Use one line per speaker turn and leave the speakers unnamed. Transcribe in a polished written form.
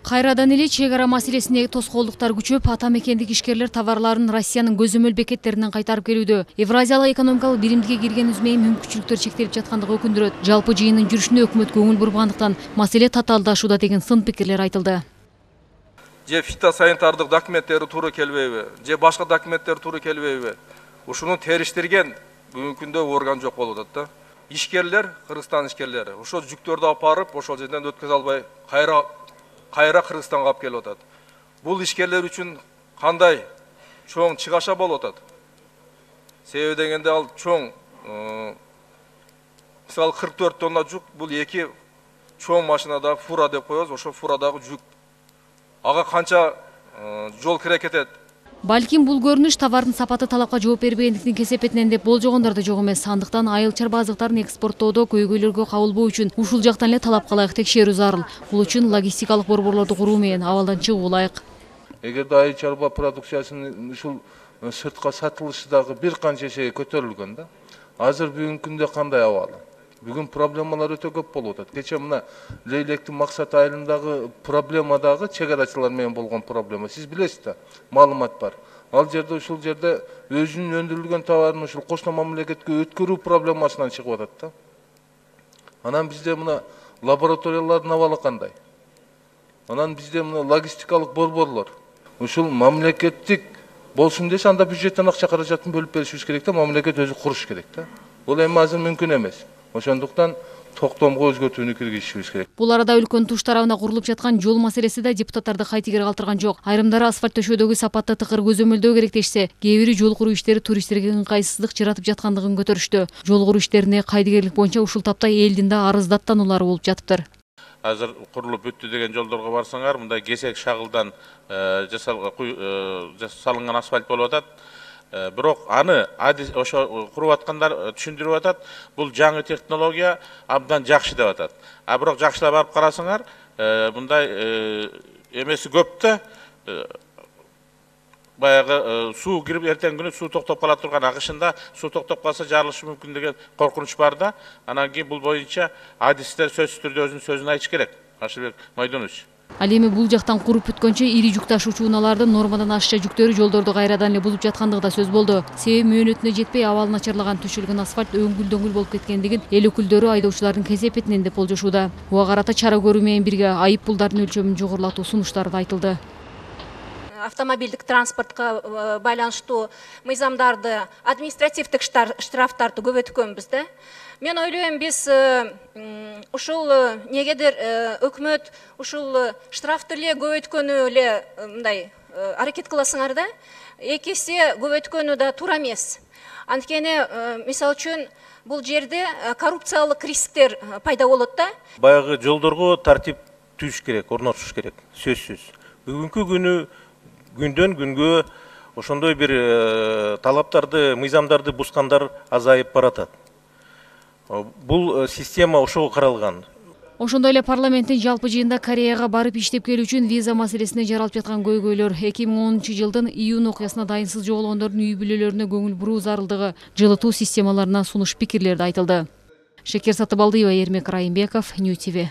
Кайрадан эле чек ара маселесине тоскоолдуктар күчөп, ата мекендик ишкерлер товарларын Россиянын көзөмөл бекеттеринен кайтарып келүүдө. Евразиялык экономикалык биримдикке кирген үзмей мүмкүнчүлүктөр чектелип жаткандыгы өкүндүрөт. Жалпы жыйындын жүрүшүнө өкмөт көңүл бургандыктан маселе татаалдашууда деген сын пикирлер айтылды.
Же фитосанитардык документтери туура келбейби, же башка документтер туура келбейби? Ушуну териштирген бүгүнкү күндө орган жок болуп атат да. Ишкерлер, Кыргызстан ишкерлери, ошол жүктөрдү алып барып, ошол жерден өткөзө албай кайра Кыргызстанга алып келип атат. Бул ишкерлер үчүн кандай чоң чыгаша болуп атат? Себеби дегенде ал чоң, мисалы 44 тонна жүк, бул эки чоң машинадагы фура деп коебуз, ошол фурадагы жүк. Ага канча жол керек этет?
Балким бул көрүнүш товардын сапаты талапка жооп бербегендиктин кесепетинен деп болжогондор да жок эмес. Андыктан айыл чарба азыктарын экспорттоодо көйгөйлөргө кабылбоо үчүн ушул жактан эле талапка ылайык текшерүү зарыл. Бул үчүн логистикалык борборлорду куруу менен абалдан чыгуу ылайык.
Эгерде айыл чарба продукциясынын ушул сыртка сатылышы дагы бир канча эсеге көтөрүлгөн да. Азыр бүгүнкү күндө кандай абалы? Бүгүн проблемалар өтө көп болуп атат. Кече мына Лейлектин Максат айылындагы проблема дагы чек арачылар менен болгон проблема. Сиз билесиз да, маалымат бар. Ал жерде ушул жерде өзүнүн өндүрүлгөн товарын ушул кошмо мамлекетке өткөрүү проблемасынан чыгып атат да. Анан бизде мына лабораториялардын абалы кандай? Анан бизде мына логистикалык борборлор. Ушул мамлекеттик болсун десе, анда бюджеттен акча каражатын бөлүп беришибиз керек да, мамлекет өзү куруш керек да. Бул эми азыр мүмкүн эмес. Ошондуктан токтомго өзгөртүүнү киргизишибиз керек.
Бул арада өлкөнүн туш тарабына курулуп жаткан жол маселеси да депутаттарды кайтыгер калтырган жок. Айрымдары асфальт төшөөдөгү сапатты тыкыр көзөмөлдөө керек дешсе, кээ бири жол куруу иштери туристтерге ыңгайсыздык жаратып жаткандыгын көтөрүштү. Жол куруу иштерине кайдыгерлик боюнча ушул тапта элдин да арыз даттануулары болуп жатыптыр.
Азыр курулуп бүттү деген жолдорго барсаңар, мындай кесек шагылдан салынган асфальт болуп атат. Бирок аны ошо куруп аткандар түшүндүрүп атат. Бул жаңы технология абдан жакшы деп атат. А бирок жакшылап барып карасаңар, мындай эмеси көп да. Баягы суу кирип эртең күнү суу токтоп кала турган, агышында суу токтоп калса жарылышы мүмкүн деген коркунуч бар да. Анан кийин бул боюнча адистер сөзсүз түрдө өзүнүн сөзүн айтыш керек. Ашылбек Майдонович.
Ал эми бул жактан куруп бүткөнчө ири жүк ташуучу унаалардын нормадан ашча жүктөрү жолдорду кайрадан эле бузуп жаткандыгы да сөз болду. Себеби мөөнөтүнө жетпей абалы начарлаган төшөлгөн асфальт өңгүл-дөңгүл болуп кеткендигин эл өкүлдөрү айдоочулардын кесепетинен деп болжошууда. Буга карата чара көрүү менен бирге айып пулдардын өлчөмүн жогорулатуу сунуштары да айтылды.
Автомобилдик транспортко байланыштуу мыйзамдарды, административдик штрафтарды көбөйткөнбүз да. Мен ойлойм, биз ушул негедир өкмөт ушул штрафты эле көбөйткөнү эле мындай аракет кыласыңар да, эки эсе көбөйткөнү да туура эмес. Анткени мисалы үчүн бул жерде коррупциялык рисктер пайда болот да.
Баягы жолдорго тартип түзүш керек, орнотуш керек, сөзсүз. Бүгүнкү күндөн күнгө ошондой бир талаптарды, мыйзамдарды бускандар азайып баратат. Бул система ошого каралган.
Ошондой эле парламенттин жалпы жыйында Кореяга барып иштеп келүү үчүн виза маселесине жаралып жаткан көйгөйлөр, 2010-жылдын июнь окуясына дайынсыз жоголгондордун үй бүлөлөрүнө көңүл буруу зарылдыгы, жылытуу системаларына сунуш пикирлерди айтылды. Шекер Сатыбалдыева, Эрмек Райымбеков, Нью ТВ.